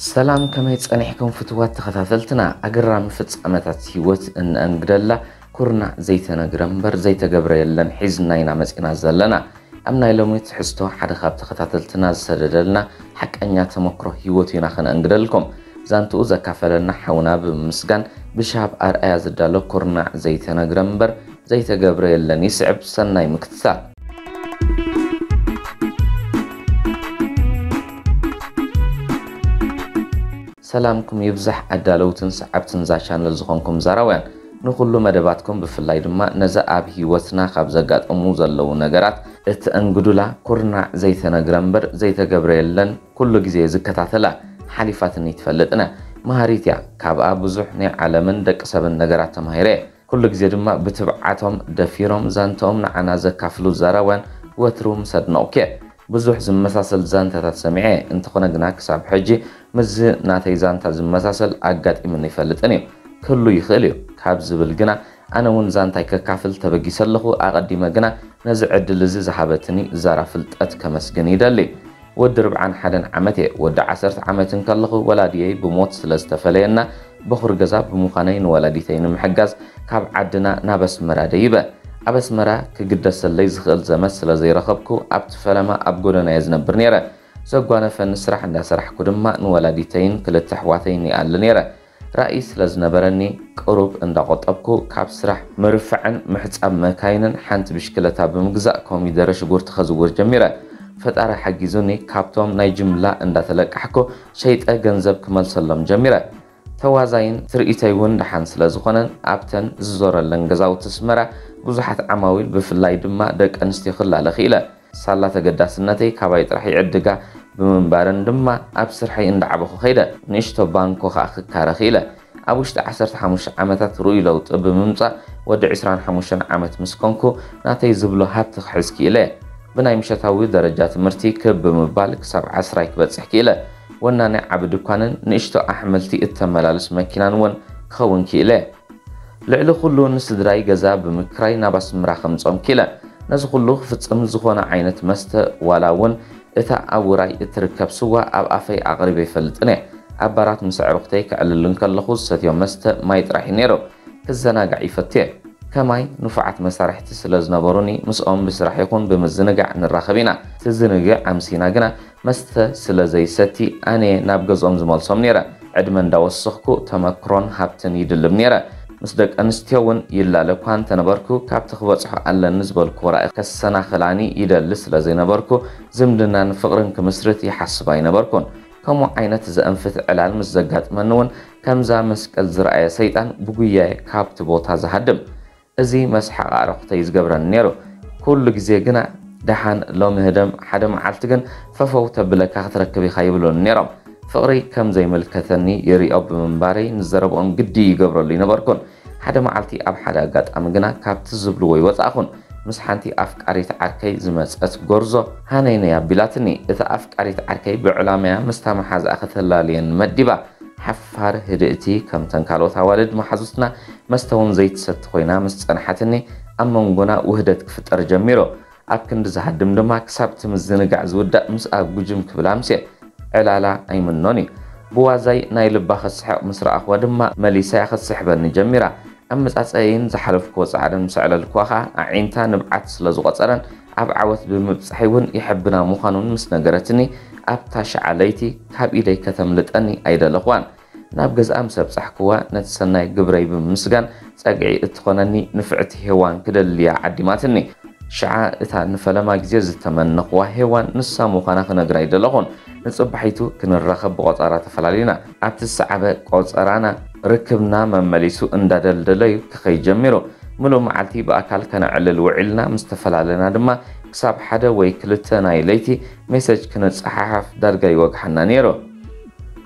ሰላም፣ ከመይ ጸኒሕኩም ፍትዋት ተኸታተልትና? ኣገራሚ ፍጻመታት ህይወት እነእንግደላ ኩርናዕ ዘይተነግረ እምበር ዘይተገብረ የለን ሒዝና ኢና መጺና ዘለና። ኣብ ናይ ሎሚ ትሕዝቶ ሓደ ካብ ተኸታተልትና ዝሰደደልና ሓቀኛ ተመክሮ ህይወቱ ኢና ከነእንግደልኩም። ዛንትኡ ዘካፈለና ሓውና ብምምስጋን ብሻብ ኣርኣያ ዝዳሎ ኩርናዕ ዘይተነግረ እምበር ዘይተገብረ የለን ይስዕብ። ሰናይ ምክትታል። ሰላምኩም ይብዛሕ ኣዳለውትን ሰዓብትን እዛ ቻነል ዝኾንኩም ዛራውያን፣ ንኹሉ መደባትኩም ብፍላይ ድማ ነዚ ኣብ ህይወትና ካብ ዘጋጠሙ ዘለዉ ነገራት እተእንግዱላ ኩርናዕ ዘይተነግረ እምበር ዘይተገብረ የለን ኩሉ ግዜ ዝከታተላ ሓሊፋትኒ ትፈልጥነ መሃሪት እያ። ካብኣ ብዙሕ ናይ ዓለምን ደቂ ሰብን ነገራት ተማሂረ እየ። ኩሉ ግዜ ድማ ብትብዓቶም ደፊሮም ዛንተኦም ንዓና ዘካፍሉ ዛራውያን ወትሩ ምስ ኣድነቕኩ እየ። ብዙሕ ዝመሳሰል ዛንታታት ሰሚዐ፣ እንተኾነ ግና ክሳብ ሕጂ ምስዚ ናተይ ዛንታ ዝመሳሰል ኣጋጢሙኒ ኣይፈልጥን እዩ። ክህሉ ይኽእል እዩ ካብ ዝብል ግና ኣነ እውን ዛንታይ ከካፍል ተበጊሰ ኣለኹ። ኣቐዲመ ግና ነዚ ዕድል እዚ ዝሃበትኒ ዛራ ፍልጠት ከመስግን ይደሊ። ወዲ ርብዓን ሓደን ዓመት እየ። ወዲ ዓሰርተ ዓመት እንከለኹ ወላዲየይ ብሞት ስለ ዝተፈለየና በኹር ገዛ ብምዃነይ ንወላዲተይ ንምሕጋዝ ካብ ዓድና ናብ ኣስመራ ደይበ። ኣብ ኣስመራ ክግደሰለይ ዝኽእል ዘመድ ስለ ዘይረኸብኩ ኣብቲ ፈለማ ኣብ ጎደና እየ ዝነብር ነይረ። ዘጓነፈኒ ስራሕ እንዳሰራሕኩ ድማ ንወላዲተይን ክልተ ኣሕዋተይን ይኣሊ ነይረ። ራእይ ስለ ዝነበረኒ ቅሩብ እንዳቆጠብኩ ካብ ስራሕ ምርፋዕን ምሕጻብ መካይንን ሓንቲ ብሽክለታ ብምግዛእ ኮሚደረ ሽጉርቲ ከዝውር ጀሚረ። ፈጣሪ ሓጊዙኒ ካብቶም ናይ ጅምላ እንዳተለቃሕኩ ሸይጠ ገንዘብ ክመልሰሎም ጀሚረ። ተዋዛይን ትርኢተይ እውን ደሓን ስለ ዝኾነን ኣብተን ዝዞረለን ገዛውቲ ኣስመራ ብዙሓት ዓማዊል ብፍላይ ድማ ደቂ ኣንስትዮ ክላለ ክኢለ። ሳላ ተገዳስነተይ ካባይ ጥራሕ ይዕድጋ ብምንባረን ድማ ኣብ ስርሐይ እንዳዓበኹ ከይደ። ንእሽቶ ባንኮ ከኣ ክካረ ክኢለ። ኣብ ውሽጢ ዓሰርተ ሓሙሽተ ዓመታት ርኡይ ለውጢ ብምምጻእ ወዲ ዕስራን ሓሙሽተን ዓመት ምስ ኮንኩ ናተይ ዝብሎ ሃብቲ ክሕዝ ክኢለ። ብናይ ምሸታዊ ደረጃ ትምህርቲ ክብ ብምባል ክሳብ ዓስራይ ክበጽሕ ክኢለ። ወናኒ ዓቢ ድኳንን ንእሽቶ ኣሕምልቲ እተመላልስ መኪናን እውን ክኸውን ክኢለ። ልዕሊ ኩሉ ንስድራይ ገዛ ብምክራይ ናብ ኣስምራ ከምጾም ክኢለ። ነዚ ኩሉ ክፍጽም ዝኾነ ዓይነት መስተ ዋላ እውን እታ ኣብ ውራይ እትርከብ ስዋ ኣብ ኣፈይ ኣቕሪበ ኣይፈልጥን እየ። ኣብ ባራት ምስ ኣዕሩኽተይ ከዕልል እንከለኹ ዝሰትዮ መስተ ማይ ጥራሕ እዩ ነይሩ። ክዘናጋዕ ይፈቱ እየ። ከማይ ንፉዓት መሳርሕቲ ስለ ዝነበሩኒ ምስኦም ብስራሕ ይኹን ብምዝንጋዕ ንራኸብ ኢና። ትዝንግዕ ኣምሲና ግና መስተ ስለ ዘይሰቲ ኣነ ናብ ገዝኦም ዝመልሶም ነይረ። ዕድመ እንዳወሰኽኩ ተመክሮን ሃብትን ይድልብ ነይረ። ምስ ደቂ ኣንስትዮ እውን ይላለ እኳ እንተነበርኩ ካብቲ ክበጽሖ ኣለኒ ዝበልኩዎ ራእይ ከሰናኽላኒ ይደሊ ስለ ዘይነበርኩ ዝምድናን ፍቕርን ክምስርት ይሓስብ ኣይነበርኩን። ከምኡ ዓይነት ዘእንፍት ዕላል ምስ ዘጋጥመኒ እውን ከምዛ መስቀል ዝረኣየ ሰይጣን ብጉያየ ካብቲ ቦታ ዝሃድም። እዚ መስሓቕ ኣዕሩኽተይ ዝገብረኒ ነይሩ። ኩሉ ግዜ ግና ደሓን ሎሚ ህደም ሓደ መዓልቲ ግን ፈፈው ተብለካ ክትረክብ ኢኻ ይብሉኒ ነይሮም። ፍቕሪ ከም ዘይምልከተኒ ይሪኦ ብምንባረይ ንዘረብኦም ግዲ ይገብረሉ ይነበርኩን። ሓደ መዓልቲ ኣብ ሓደ ኣጋጣሚ ግና ካብቲ ዝብልዎ ይወጻእኹን። ምስ ሓንቲ ኣፍቃሪት ዓርከይ ዝመጸት ጎርዞ ሃነይ ነይ ኣቢላትኒ። እታ ኣፍቃሪት ዓርከይ ብዕላማያ ምስታ መሓዝኣ ከተላልየኒ መዲባ። ሓፋር ህድእቲ ከምተን ካልኦት ኣዋልድ መሓዙትና መስተ እውን ዘይትሰቲ ኮይና ምስ ጸንሓትኒ ኣብ መንጎና ውህደት ክፍጠር ጀሚሩ። ኣብ ክንዲ ዝሃድም ድማ ክሳብ እቲ ምዝንጋዕ ዝውዳእ ምስኣ ጉጅም ክብል ኣምስየ። ዕላላ ኣይምኖን እዩ። ብዋዛይ ናይ ልባ ክትስሕቕ ምስ ረኣኽዋ ድማ መሊሳያ ክትስሕበኒ ጀሚራ። ኣመጻጸይን ዝሓለፍክዎ ጻዕርን ምስ ኣዕለልክዋ ኸኣ ኣዒንታ ንብዓት ስለ ዝቖጸረን ኣብ ዓወት ብምብጻሐይ እውን የሐብና ምዃኑን ምስ ነገረትኒ ኣብታ ሸዓ ለይቲ ካብ ኢደይ ከተምልጠኒ ኣይደለኽዋን። ናብ ገዝኣ ምስ ኣብጻሕክዋ ነቲ ሰናይ ግብረይ ብምምስጋን ጸግዒ እትኾነኒ ንፍዕቲ ሄዋን ክደልያ ዓዲማትኒ። ሽዓ እታ ንፈለማ ግዜ ዝተመነኽዋ ሄዋን ንሳ ምዃና ክነግራ ኣይደለኹን። ንጽባሒቱ ክንራኸብ ብቖጸራ ተፈላሊና። ኣብቲ ዝሰዓበ ቆጸራና ርክብና መመሊሱ እንዳደልደለዩ ክኸይድ ጀሚሩ። ምሉእ መዓልቲ ብኣካል ከነዕልል ውዒልና ምስ ተፈላለና ድማ ክሳብ ሓደ ወይ ክልተ ናይ ለይቲ ሜሰጅ ክንጸሓሓፍ ዳርጋ ይወግሓና ነይሩ።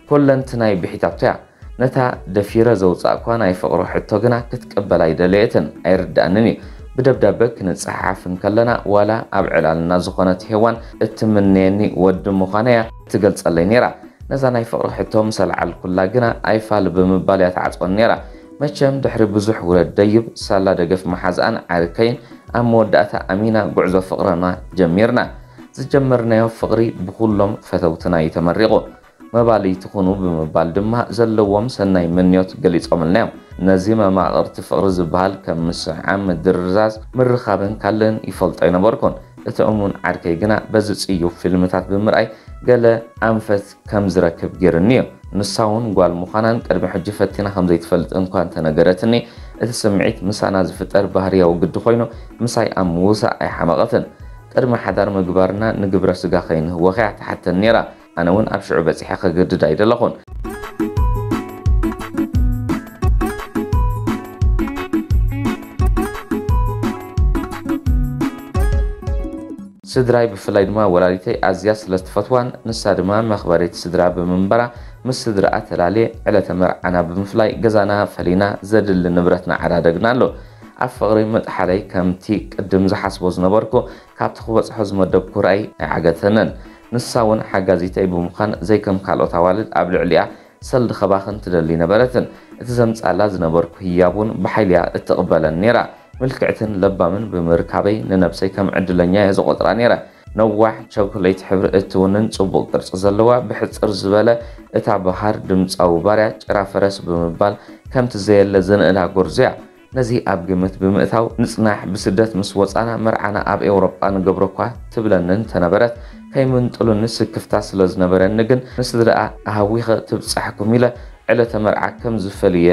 ኮለንትናይ ብሒታቶ እያ። ነታ ደፊረ ዘውጻእኳ ናይ ፍቕሪ ሕቶ ግና ክትቅበል ኣይደለየትን፣ ኣይርድኣንን እዩ። ብደብዳበ ክንጸሓሓፍ እንከለና ዋላ ኣብ ዕላልና ዝኾነት ሄዋን እትምነየኒ ወዲ ምዃነያ ትገልጸለይ ነይራ። ነዛ ናይ ፍቕሪ ሕቶ ምስ ኣልዓልኩላ ግና ኣይፋል ብምባል እያ ትዓጽወኒ ነይራ። መቸም ድሕሪ ብዙሕ ውረድ ደይብ ሳላ ደገፍ መሓዝኣን ዓርከይን ኣብ መወዳእታ ኣሚና ጉዕዞ ፍቕርና ጀሚርና። ዝጀመርናዮ ፍቕሪ ብኹሎም ፈተውትና እዩ ተመሪቑ። መባልይቲ ኩኑ ብምባል ድማ ዘለዎም ሰናይ ምንዮት ገሊጾምልና እዮም። ነዚ መማቕርቲ ፍቕሪ ዝበሃል ከም ምስዕዓም፣ ምድርዛዝ፣ ምርኻብን ካልእን ይፈልጦ ኣይነበርኩን። እቲ እሙን ዓርከይ ግና በዚ ጽዩፍ ፊልምታት ብምርኣይ ገለ ኣንፈት ከም ዝረክብ ገይሩኒ እዩ። ንሳ እውን ጓል ምዃናን ቅድሚ ሕጂ ፈቲና ከም ዘይትፈልጥ እንኳ እንተነገረትኒ፣ እቲ ስምዒት ምሳና ዝፍጠር ባህርያዊ ግዲ ኮይኑ ምሳይ ኣብ ምውሳእ ኣይሓመቐትን። ቅድሚ ሓዳር ምግባርና ንግብረ ስጋ ከይንህወኽ እያ ትሓተኒ ነይራ። ኣነ እውን ኣብ ሽዑ በጺሐ ከገድድ ኣይደለኹን። ስድራይ ብፍላይ ድማ ወላዲተይ ኣዝያ ስለ ትፈትዋን ንሳ ድማ መኽበሪት ስድራ ብምንባራ ምስ ስድራኣ ተላልየ ዕለተ መርዓና ብምፍላይ ገዛና ፈሊና ዘድሊ ንብረትና ዓዳደግና ኣሎ። ኣብ ፍቕሪ ምጥሓለይ ከምቲ ቅድም ዝሓስቦ ዝነበርኩ ካብቲ ክበጽሖ ዝመደብኩ ራእይ ኣይዓገተንን። ንሳ እውን ሓጋዚተይ ብምዃን ዘይከም ካልኦት ኣዋልድ ኣብ ልዕሊኣ ሰልዲ ከባኽን ትደሊ ነበረትን። እቲ ዘምጻላ ዝነበርኩ ህያብ እውን ብሓይሊያ እትቕበለን ነይራ። ምልክዕትን ለባምን ብምርካበይ ንነብሰይ ከም ዕድለኛ እየ ዝቖጽራ ነይረ። ነዋሕ ቸኮሌት ሕብሪ እትውንን ጽቡቕ ቅርጺ ዘለዋ ብሕጽር ዝበለ እታ በሃር ድምጻዊ ባርያ ጭራ ፈረስ ብምባል ከምቲ ዘየለ ዘንእዳ ጎርዞ እያ። ነዚ ኣብ ግምት ብምእታው ንጽናሕ ብስደት ምስ ወጻና መርዓና ኣብ ኤውሮጳ ንገብሮ እኳ ትብለኒ እንተነበረት ከይምንጥሉኒ ስክፍታ ስለ ዝነበረኒ ግን ንስድራኣ ኣሃዊኸ ትብጻሕኩም ኢለ ዕለተ መርዓ ከም ዝፈልየ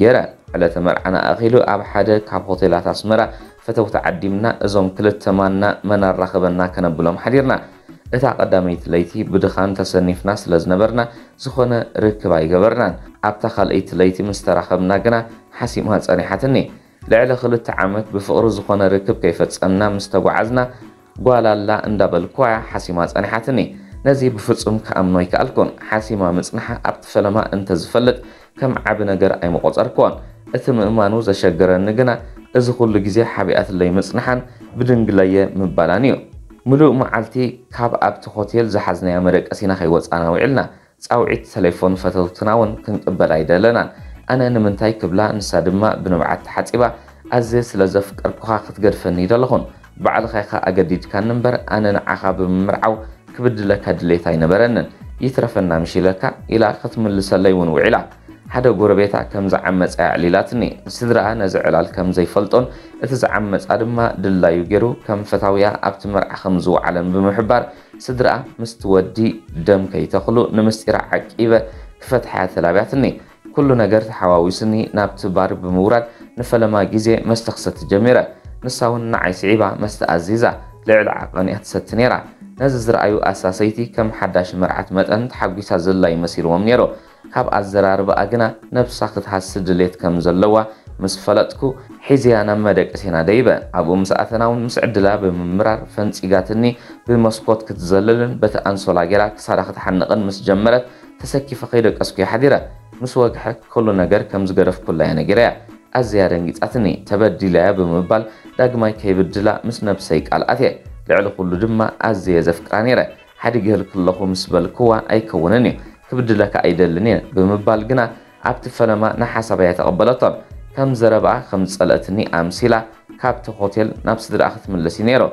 ገይረ። ዕለተ መርዓና ኣኺሉ ኣብ ሓደ ካብ ሆቴላት ኣስመራ ፈተውቲ ዓዲምና እዞም ክልተ ማና መን ኣራኸበና ከነብሎም ሓዲርና። እታ ቀዳመይቲ ለይቲ ብድኻም ተሰኒፍና ስለ ዝነበርና ዝኾነ ርክብ ኣይገበርናን። ኣብታ ካልኣይቲ ለይቲ ምስ ተራኸብና ግና ሓሲማ ጸኒሓትኒ። ልዕሊ ክልተ ዓመት ብፍቕሪ ዝኾነ ርክብ ከይፈጸምና ምስ ተጓዓዝና ጓል ኣላ እንዳበልኳ ሓሲማ ጸኒሓትኒ። ነዚ ብፍጹም ክኣምኖ ኣይከኣልኩን። ሓሲማ ምጽንሓ ኣብቲ ፈለማ እንተዝፈልጥ ከም ዓቢ ነገር ኣይምቖጸርክዎን። እቲ ምእማኑ ዘሸገረኒ ግና እዚ ኩሉ ግዜ ሓቢኣትለይ ምጽንሓን ብድንግለየ ምባላን እዩ። ምሉእ መዓልቲ ካብ ኣብቲ ሆቴል ዝሓዝናዮ መደቀሲና ከይወጻና ውዒልና። ጻውዒት ተሌፎን ፈተውትና እውን ክንቅበል ኣይደለናን። ኣነ ንምንታይ ክብላ፣ ንሳ ድማ ብንብዓት ተሓጺባ፣ ኣዝየ ስለ ዘፍቀርኩኻ ክትገድፈኒ ኣይደለኹን። ባዕልኻ ኢኻ ኣገዲድካኒ እምበር፣ ኣነ ንዓኻ ብምምርዓው ክብድለካ ድሌት ኣይነበረንን። ይትረፈና ምሽ ኢለካ ኢላ ክትምልሰለይ እውን ውዒላ። ሓደ ጎረቤታ ከም ዝዓመጻ ኣዕሊላትኒ። ስድራኣ ነዚ ዕላል ከም ዘይፈልጦን እቲ ዝዓመጻ ድማ ድላዩ ገይሩ ከም ፈታውያ ኣብቲ መርዓ ከም ዝወዓለን ብምሕባር፣ ስድራኣ ምስቲ ወዲ ደም ከይተኽሉ ንምስጢራ ዓቂበ ክፈትሓያ ተላብያትኒ። ኩሉ ነገር ተሓዋዊስኒ ናብቲ ባር ብምውራድ ንፈለማ ግዜ መስተ ክሰቲ ጀሚረ። ንሳ እውን ንዓይ ስዒባ መስተ ኣዚዛ ልዕሊ ዓቐን እያ ትሰቲ ነይራ። ነዚ ዝረኣዩ ኣሳሰይቲ ከም ሓዳሽ መርዓት መጠን ተሓጒሳ ዘላ ይመሲልዎም ነይሩ። ካብ ኣዘራርባኣ ግና ነብሳ ክትሃሲ ድሌት ከም ዘለዋ ምስ ፈለጥኩ፣ ሒዘያ ናብ መደቀሲና ደይበ። ኣብኡ ምስ ኣተና እውን ምስ ዕድላ ብምምራር ፈንጺጋትኒ ብመስኮት ክትዘልልን በቲ ኣንሶላ ጌራ ክሳዳ ክትሓንቕን ምስ ጀመረት፣ ተሰኪፈ ከይደቀስኩ እየ ሓዲረ። ምስ ወግሐ ኩሉ ነገር ከም ዝገደፍኩላ እያ ነጊረያ። ኣዝያ ደንጊጻትኒ፣ ተበዲለያ ብምባል ዳግማይ ከይብድላ ምስ ነብሰይ ቃል ኣትየ። ልዕሊ ኩሉ ድማ ኣዝየ ዘፍቅራ ነይረ። ሓዲገ ከለኹ ምስ በልክዋ ኣይከውንን እዩ፣ ክብድለካ ኣይደልን እየ ብምባል ግና ኣብቲ ፈለማ ንሓሳበይ ኣይተቐበለቶን። ከም ዘረባኣ ከም ዝጸልአትኒ ኣምሲላ ካብቲ ሆቴል ናብ ስድራኣ ክትምለስ እዩ ነይሩ።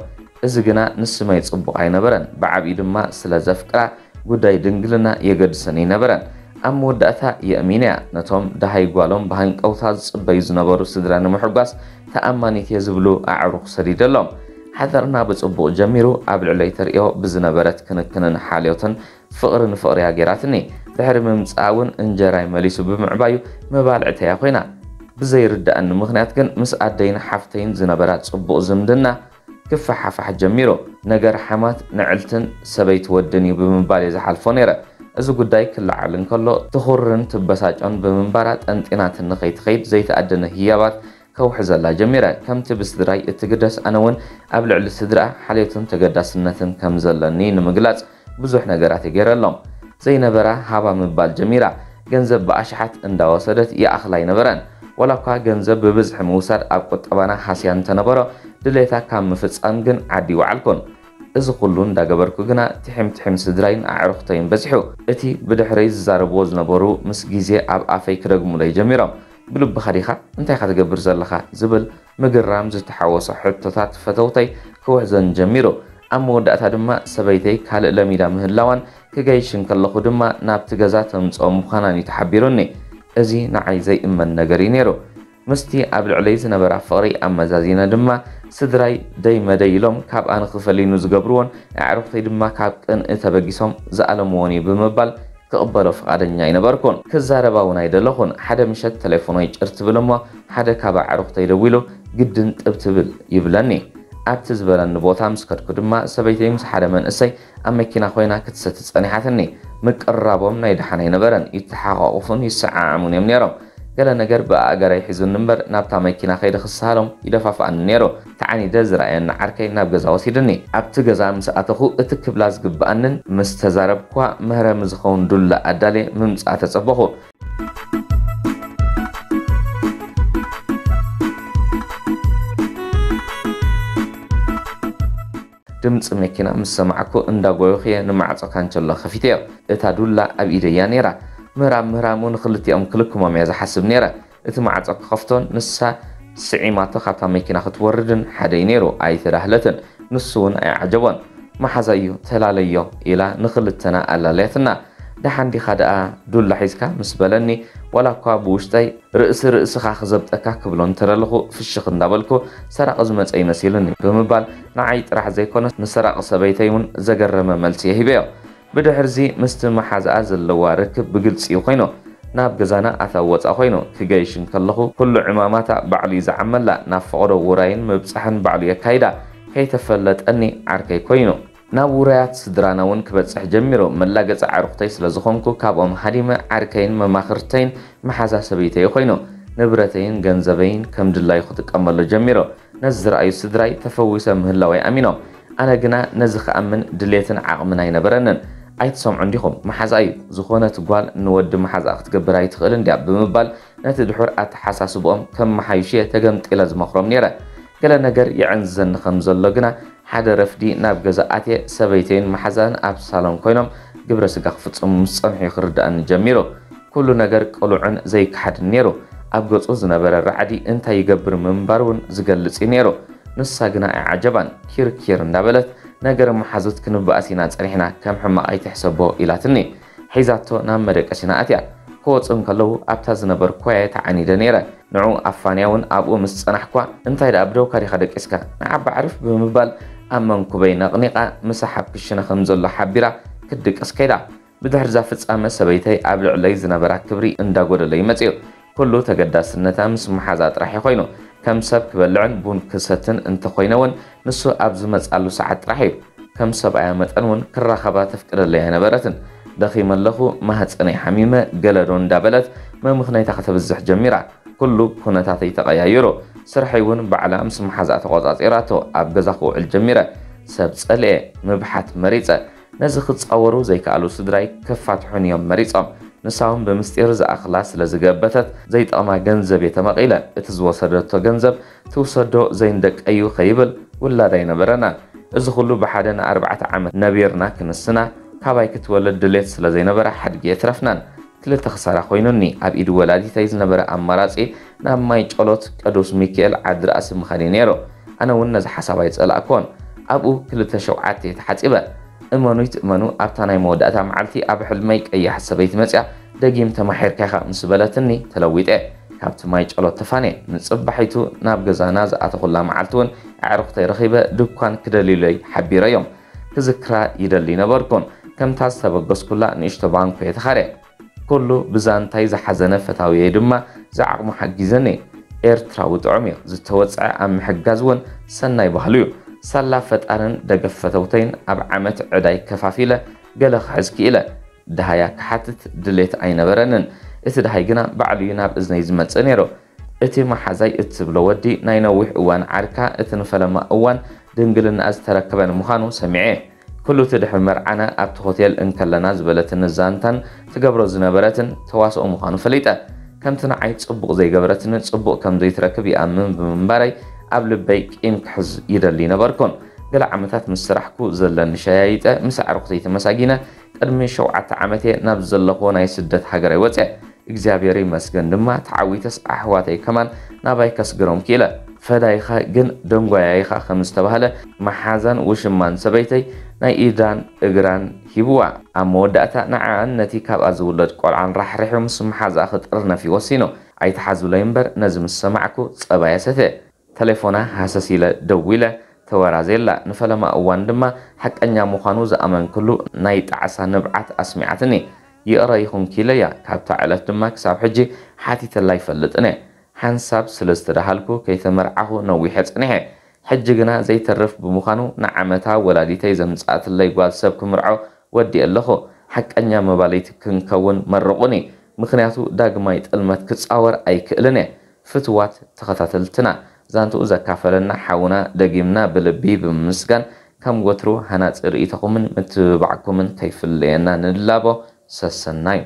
እዚ ግና ንስመይ ጽቡቕ ኣይነበረን። ብዓቢኡ ድማ ስለ ዘፍቅራ ጉዳይ ድንግልና የገድሰኒ ኣይነበረን። ኣብ መወዳእታ የእሚነያ። ነቶም ደሃይ ጓሎም ብሃንቀውታ ዝጽበዩ ዝነበሩ ስድራ ንምሕጓስ ተኣማኒት እየ ዝብሉ ኣዕሩኽ ሰዲደሎም። ሓዳርና ብጽቡቕ ጀሚሩ። ኣብ ልዕለይ ተርእዮ ብዝነበረት ክንክንን ሓልዮትን ፍቕሪ ንፍቕሪያ ገይራትኒ። ድሕሪ ምምጻኣ እውን እንጀራይ መሊሱ ብምዕባዩ መባልዕተያ ኮይና። ብዘይርድኣኒ ምኽንያት ግን ምስ ኣደይን ሓፍተይን ዝነበራ ጽቡቕ ዝምድና ክፈሓፋሕ ጀሚሩ። ነገር ሓማት ንዕልትን ሰበይቲ ወድን እዩ ብምባል እየ ዝሓልፎ ነይረ። እዚ ጉዳይ ክለዓል እንከሎ ትኹርን ትበሳጮን ብምንባራ ጠንጢናትኒ ከይትኸይድ ዘይተኣደነ ህያባት ከውሕዘላ ጀሚረ። ከምቲ ብስድራይ እትግደስ ኣነ እውን ኣብ ልዕሊ ስድራኣ ሓልዮትን ተገዳስነትን ከም ዘለኒ ንምግላጽ ብዙሕ ነገራት እየ ገይረሎም። ዘይነበራ ሃባ ምባል ጀሚራ። ገንዘብ ብኣሽሓት እንዳወሰደት ይኣኽላ ኣይነበረን። ዋላ እኳ ገንዘብ ብብዝሒ ምውሳድ ኣብ ቁጠባና ሃስያ እንተነበሮ፣ ድሌታ ካብ ምፍጻም ግን ዓዲ ይወዓልኩን። እዚ ኩሉ እንዳገበርኩ ግና ትሒም ትሒም ስድራይን ኣዕሩኽተይን በዚሑ። እቲ ብድሕረይ ዝዛረብዎ ዝነበሩ ምስ ግዜ ኣብ ኣፈይ ክደግሙለይ ጀሚሮም። ብልብኻ ዲኻ? እንታይ ኢኻ ትገብር ዘለኻ? ዝብል ምግራም ዝተሓወሶ ሕቶታት ፈተውተይ ክውሕዘን ጀሚሩ። ኣብ መወዳእታ ድማ ሰበይተይ ካልእ ለሚዳ ምህላዋን ክገይሽ እንከለኹ ድማ ናብቲ ገዛ ተምጽኦ ምዃናን እዩ ተሓቢሩኒ። እዚ ንዓይ ዘይእመን ነገር እዩ ነይሩ። ምስቲ ኣብ ልዕለይ ዝነበራ ፍቕሪ ኣመዛዚነ ድማ፣ ስድራይ ደይ መደይ ኢሎም ካብ ኣነ ክፈሊኑ ዝገብርዎን ኣዕሩኽተይ ድማ ካብ ቅንኢ ተበጊሶም ዝኣለምዎን እዩ ብምባል ክቕበሎ ፍቓደኛ ኣይነበርኩን። ክዛረባ እውን ኣይደለኹን። ሓደ ምሸት ተሌፎኖይ ጭር ትብል እሞ፣ ሓደ ካብ ኣዕሩኽተይ ደዊሉ፣ "ግድን ጥብ ትብል" ይብለኒ። ኣብቲ ዝበለኒ ቦታ ምስ ከድኩ ድማ፣ ሰበይተይ ምስ ሓደ መንእሰይ ኣብ መኪና ኮይና ክትሰቲ ጸኒሓትኒ። ምቅርራቦም ናይ ደሓን ኣይነበረን። ይተሓቋቑፉን ይሰዓዓሙን እዮም ነይሮም። ገለ ነገር ብኣእጋረይ ሒዙኒ እምበር፣ ናብታ መኪና ከይደ ክሰሃሎም ይደፋፍኣኒ ነይሩ። ተዓኒደ ዝረኣየኒ ዓርከይ ናብ ገዛ ወሲድኒ። ኣብቲ ገዛ ምስ ኣተኹ፣ እቲ ክብላ ዝግብኣንን ምስ ተዛረብኳ መህረሚ ዝኸውን ዱላ ኣዳልየ ምምጻእ ተጸበኹ። ድምጺ መኪና ምስ ሰማዕኩ፣ እንዳጎየኹ እየ ንማዕጾ ካንቸሎ ከፊተዮ። እታ ዱላ ኣብ ኢደይ እያ ነይራ። ምህራም ምህራሙ ንኽልቲኦም ክልክሞም እየ ዝሓስብ ነይረ። እቲ ማዕጾ ክኸፍቶን ንሳ ስዒማቶ ካብታ መኪና ክትወርድን ሓደ እዩ ነይሩ። ኣይተዳህለትን። ንሱ እውን ኣይዓጀቦን። "መሓዛ እዩ፣ ተላለዮ" ኢላ ንኽልተና ኣላለያትና። "ደሓን ዲኻ ደኣ ዱላ ሒዝካ?" ምስ በለኒ፣ ዋላ እኳ ብውሽጠይ "ርእሲ ርእስኻ ክዘብጠካ" ክብሎ እንተደለኹ፣ ፍሽኽ እንዳበልኩ፣ "ሰራቒ ዝመጸ ይመሲሉኒ" ብምባል፣ ንዓይ ጥራሕ ዘይኮነስ ንሰራቒ ሰበይተይ እውን ዘገረመ መልሲ እየ ሂበዮ። ብድሕርዚ ምስቲ መሓዛኣ ዘለዋ ርክብ ብግልጺ እዩ ኮይኑ። ናብ ገዛና ኣታዊ ወጻእ ኮይኑ። ክገይሽ እንከለኹ፣ ኩሉ ዕማማታ ባዕሉ እዩ ዝዓመላ። ናብ ፈቐዶ ውራይን ምብጻሕን ባዕሉ የካይዳ። ከይተፈለጠኒ ዓርከይ ኮይኑ። ናብ ውራያት ስድራና እውን ክበጽሕ ጀሚሩ። መላገጺ ኣዕሩኽተይ ስለ ዝኾንኩ፣ ካብኦም ሃዲመ ዓርከይን መማኽርተይን መሓዛ ሰበይተይ ኮይኑ። ንብረተይን ገንዘበይን ከም ድላዩ ክጥቀመሉ ጀሚሩ። ነዚ ዝረኣዩ ስድራይ ተፈዊሰ ምህላወይ ኣሚኖም። ኣነ ግና ነዚ ክኣምን ድሌትን ዓቕምን ኣይነበረንን። "ኣይትሰምዑን ዲኹም? መሓዛ እዩ። ዝኾነት ጓል ንወዲ መሓዛኣ ክትገብር ኣይትኽእልን ድያ?" ብምባል ነቲ ድሑር ኣተሓሳስብኦም ከመሓይሹ እየ ተገምጢለ ዝመኽሮም ነይረ። ገለ ነገር የዕንዝዘኒ ከም ዘሎ ግና፣ ሓደ ረፍዲ ናብ ገዛ ኣትየ፣ ሰበይተይን መሓዛን ኣብ ሳሎን ኮይኖም ግብረ ስጋ ክፍጽሙ ምስ ጸንሑ እዩ ክርድኣኒ ጀሚሩ። ኩሉ ነገር ቅሉዕን ዘይከሓድን ነይሩ። ኣብ ገጹ ዝነበረ ራዕዲ እንታይ ይገብር ምንባሩ እውን ዝገልጽ እዩ ነይሩ። ንሳ ግና ኣይዓጀባን። ኪርኪር እንዳበለት፣ "ነገር መሓዙት ክንበኣስ ኢና ጸኒሕና፣ ከም ሕማቕ ኣይትሕሰቦ" ኢላትኒ። ሒዛቶ ናብ መደቀሲና ኣትያ። ክወጹ እንከለዉ ኣብታ ዝነበርኩዋ እየ ተዓኒደ ነይረ። ንዑ ኣፋንያ እውን ኣብኡ ምስ ጸናሕኳ፣ "እንታይ ደኣ ብደውካ ዲኻ ደቂስካ? ንዓባ ኣዕርፍ" ብምባል ኣብ መንኩበይ ነቕኒቓ ምሳሕ ኣብ ክሽነ ከም ዘሎ ሓቢራ ክትድቅስ ከይዳ። ብድሕሪ እዛ ፍጻመ ሰበይተይ ኣብ ልዕለይ ዝነበራ ክብሪ እንዳጎደለ እዩ መጺኡ። ኩሉ ተገዳስነታ ምስ መሓዛ ጥራሕ እዩ ኮይኑ። ከም ሰብ ክበልዕን ቡን ክሰትን እንተኾይነ እውን ንሱ ኣብ ዝመጽኣሉ ሰዓት ጥራሕ እዩ። ከም ሰብኣያ መጠን እውን ክራኸባ ተፍቅደለይ ኣይነበረትን። "ደኺመ ኣለኹ፣ ማህጸነይ ሓሚመ" ገለ ዶ እንዳበለት መምኽነይታ ከተብዝሕ ጀሚራ። ኩሉ ኩነታተይ ተቐያይሩ። ስርሐይ እውን ባዕላ ምስ መሓዛኣ ተቖጻጺራቶ ኣብ ገዛ ክውዕል ጀሚረ። ሰብ ጸልኤ፣ ምብሓት መሪጸ። ነዚ ክጻወሩ ዘይከኣሉ ስድራይ ከፋትሑኒ እዮም መሪጾም። ንሳ እውን ብምስጢር ዝኣኽላ ስለ ዝገበተት ዘይጠቕማ ገንዘብ እየ ተመቒለ። እቲ ዝወሰደቶ ገንዘብ ትውሰዶ ዘይንደቀዩ ከይብል ውላድ ኣይነበረናን። እዚ ኩሉ ብሓደ ንኣርባዕተ ዓመት ነቢርና ክንስና ካባይ ክትወልድ ድሌት ስለ ዘይነበራ ሓድጊ የትረፍናን። ክልተ ክሳራ ኮይኑኒ። ኣብ ኢድ ወላዲተይ ዝነበረ ኣማራጺ ናብ ማይ ጨሎት ቅዱስ ሚካኤል ዓዲ ራእሲ ምኻድ እዩ ነይሩ። ኣነ እውን ነዚ ሓሳብ ኣይጸላእኩዎን። ኣብኡ ክልተ ሸውዓተ እየ ተሓጺበ። እመኑ ይትእመኑ፣ ኣብታ ናይ መወዳእታ መዓልቲ ኣብ ሕልመይ ቀያሕ ሰበይቲ መጽያ፣ "ደጊም ተማሒርካ ኢኻ" ምስ በለትኒ ተለዊጠ። ካብቲ ማይ ጨሎት ተፋንየ። ንጽባሒቱ ናብ ገዛና ዝኣተኹላ መዓልቲ እውን ኣዕሩኽተይ ረኺበ ድኳን ክደልዩለይ ሓቢረዮም። ክዝክራ ይደሊ ነበርኩን። ከምታ ዝተበገስኩላ ንእሽቶ ባንኮ እየ ተኻርየ። ኩሉ ብዛንታይ ዝሓዘነ ፈታውየይ ድማ ዝዓቕሙ ሓጊዘኒ። ኤርትራዊ ጥዑም እዩ። ዝተወጽዐ ኣብ ምሕጋዝ እውን ሰናይ ባህሉ እዩ። ሳላ ፈጣርን ደገፍ ፈተውተይን ኣብ ዓመት ዕዳይ ከፋፊለ ገለ ክሕዝ ክኢለ። ደሃያ ክሓትት ድሌት ኣይነበረንን። እቲ ደሃይ ግና ባዕሉ እዩ ናብ እዝነይ ዝመጽእ ነይሩ። እቲ መሓዛይ እትብሎ ወዲ ናይ ነዊሕ እዋን ዓርካ፣ እቲ ንፈለማ እዋን ድንግልና ዝተረከበ ንምዃኑ ሰሚዐ። ኩሉ እቲ ድሕሪ መርዓና ኣብቲ ሆቴል እንከለና ዝበለትኒ ዛንታን ትገብሮ ዝነበረትን ተዋስኦ ምዃኑ ፈሊጠ። ከምቲ ንዓይ ጽቡቕ ዘይገበረትኒ ጽቡቕ ከም ዘይትረክብ ይኣምን ብምንባረይ ኣብ ልበይ ቂም ክሕዝ ይደሊ ነበርኩን። ገለ ዓመታት ምስ ሰራሕኩ ዘለኒ ሸያይጠ ምስ ኣዕሩኽተይ ተመሳጊነ ቅድሚ ሸውዓተ ዓመት እየ ናብ ዘለኹዎ ናይ ስደት ሃገረይ ወፅየ። እግዚኣብሔር ይመስገን ድማ ተዓዊተስ ኣሕዋተይ ከማን ናባይ ከስግሮም ክኢለ። ፈዳይኻ ግን ደንጓያ ኢኻ ከም ዝተባህለ፣ መሓዛን ውሽማን ሰበይተይ ናይ ኢዳን እግራን ሂብዋ። ኣብ መወዳእታ ንዓኣን ነቲ ካብኣ ዝውለድ ቆልዓን ራሕሪሑ ምስ መሓዛኣ ክጥርነፍ እዩ ወሲኑ። ኣይትሓዙለይ እምበር ነዚ ምስ ሰማዕኩ ጸባየ ሰትየ። ተሌፎና ሃሰስ ኢለ ደዊለ ተወራዜላ። ንፈለማ እዋን ድማ ሓቀኛ ምዃኑ ዝኣመንክሉ ናይ ጣዕሳ ንብዓት ኣስሚዓትኒ። ይቕረ ይኹንኪ ኢለያ። ካብታ ዕለት ድማ ክሳብ ሕጂ ሓቲተላ ኣይፈልጥን እየ። ሓንሳብ ስለ ዝተዳሃልኩ ከይተመርዓኹ ነዊሐ ጸኒሐ። ሕጂ ግና ዘይተርፍ ብምዃኑ ንዓመታ ወላዲተይ ዘምጽኣትለይ ጓል ሰብ ክምርዖ ወዲኤ ኣለኹ። ሓቀኛ መባልይቲ ክንከውን መርቑኒ። ምኽንያቱ ዳግማይ ጥልመት ክጻወር ኣይክእልን እየ። ፍትዋት ተኸታተልትና፣ ዛንትኡ ዘካፈለና ሓውና ደጊምና ብልቢ ብምምስጋን፣ ከም ወትሩ ሃናጺ ርእይቶኹምን ምትብባዕኩምን ከይፍለየና ንላቦ። ሰሰናዩ።